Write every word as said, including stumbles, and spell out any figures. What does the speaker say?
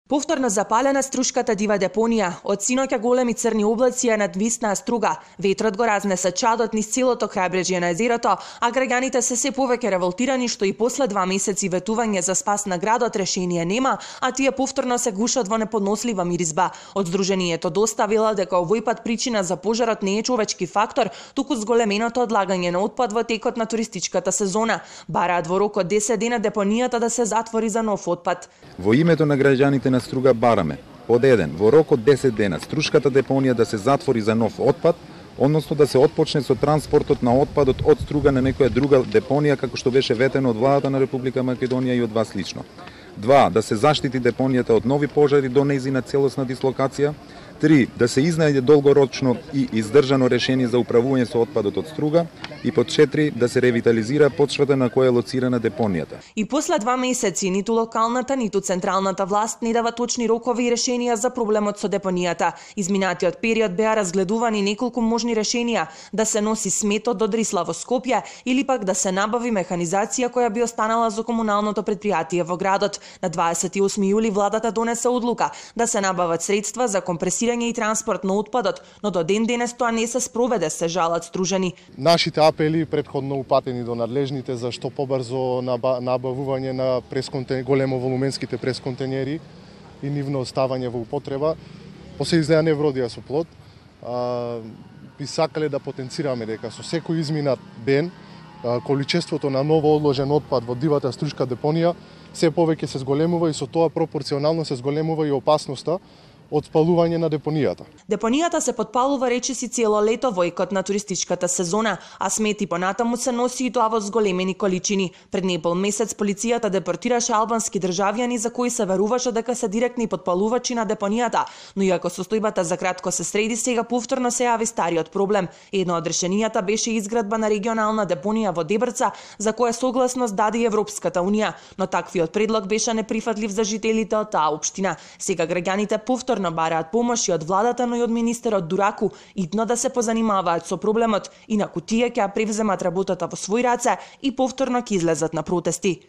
Повторно запалена струшката дива депонија. Од синоќа големи црни облаци ја надвиснаа струга. Ветрот го разнеса чадот низ целото крајбрежје на езерото, а граѓаните се се повеќе револтирани што и после два месеци ветување за спас на градот решение нема, а тие повторно се гушат во неподнослива миризба. Од здруженијето доставила дека овој пат причина за пожарот не е човечки фактор, туку зголеменото одлагање на отпад во текот на туристичката сезона. Бараат во рок од десет дена депонијата да се затвори за нов отпад. Во името на граѓаните на Струга бараме под еден во рок од десет дена струшката депонија да се затвори за нов отпад, односно да се отпочне со транспортот на отпадот од Струга на некоја друга депонија како што беше ветено од владата на Република Македонија и од вас лично. Два, да се заштити депонијата од нови пожари до нејзина целосна дислокација. Три, да се изнајде долгорочно и издржано решение за управување со отпадот од Струга. И под четири, да се ревитализира почвата на која е лоцирана депонијата. И после два месеци ниту локалната, ниту централната власт не дава точни рокови и решенија за проблемот со депонијата. Изминатиот период беа разгледувани неколку можни решенија: да се носи сметот до Дрисла во Скопје или пак да се набави механизација која би останала за комуналното предпријатие во градот. На дваесет и осми јули владата донесе одлука да се набават средства за компресирање и транспорт на отпадот, но до ден денес тоа не се спроведе, се жалат стружени. Нашите апели претходно упатени до надлежните за што побрзо набавување на големо волуменските пресконтенери и нивно оставање во употреба, после изгледа не вродија со плод. А, би сакале да потенцираме дека со секој изминат ден количеството на ново одложен отпад во дивата струшка депонија се повеќе се зголемува и со тоа пропорционално се зголемува и опасноста од спалување на депонијата. Депонијата се подпалува речиси цело лето во екот на туристичката сезона, а смети понатаму се носи и тоа во зголемени количини. Пред непол месец полицијата депортираше албански државјани за кои се веруваше дека се директни подпалувачи на депонијата, но иако состојбата за кратко се среди, сега повторно се јави стариот проблем. Едно од решенијата беше изградба на регионална депонија во Дебрца, за која согласност даде и Европската унија, но таквиот предлог беше неприфатлив за жителите од таа општина. Сега граѓаните повторно бараат помош и од владата, но и од министерот Дураку, итно да се позанимаваат со проблемот, инаку тие ќе ја превземат работата во свој раце и повторно ќе излезат на протести.